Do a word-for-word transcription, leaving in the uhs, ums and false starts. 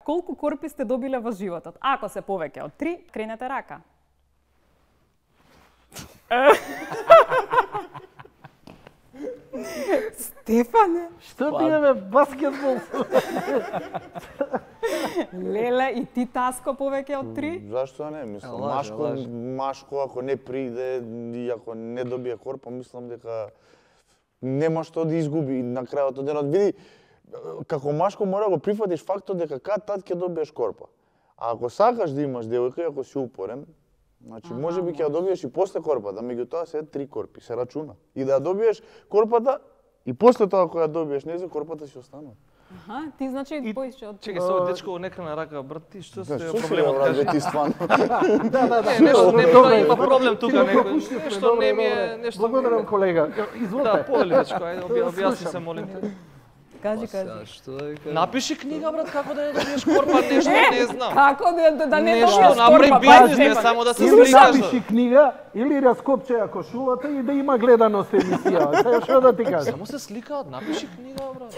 колку корпи сте добиле во животот? Ако се повеќе од три, кренете рака. Стефане! Што ти е, бе, баскетбол? Леле, и ти, Таско, повеќе од три? Зашто не? Мислам, Лаже, машко, лаже. машко ако не приде и ако не добие корпа, мислам дека нема што да изгуби на крајот од денот. Види, како машко мора да го прифатиш фактот дека кад-тад ќе добиеш корпа. А ако сакаш да имаш девојка и ако си упорен, значи можеби ќе ја добиеш и после корпата, меѓутоа се три корпи, се рачуна. И да ја добиеш корпата и после тоа кога ја добиеш незе, корпата си останува. Аха, ти значи поише од... Чекај, со дечко не крена рака, брат, ти што се Што се проблемот брат, кажи? бе, ти стварно? Да, да, да. Не, нешто не Добре, има добре. проблем тука, Ти го некој. пропуштивме, Нешто добре, не ми е, добре. нешто... Благодарам, колега. Изволте. Да, повели дечко, ајде, обја- објасни се, молим те. Кажи, кажи. Што да ви кажам? Напиши книга, брат, како да ја добиеш корпа, нешто не знам. Како да, да не Нешто, добиеш направи корпа? бизнес, не Стефан. само да се Или сликаш. напиши книга, или раскопче ако шулата и да има гледаност емисија. Сега што да ти кажам? Само се сликаат, напиши книга, брат.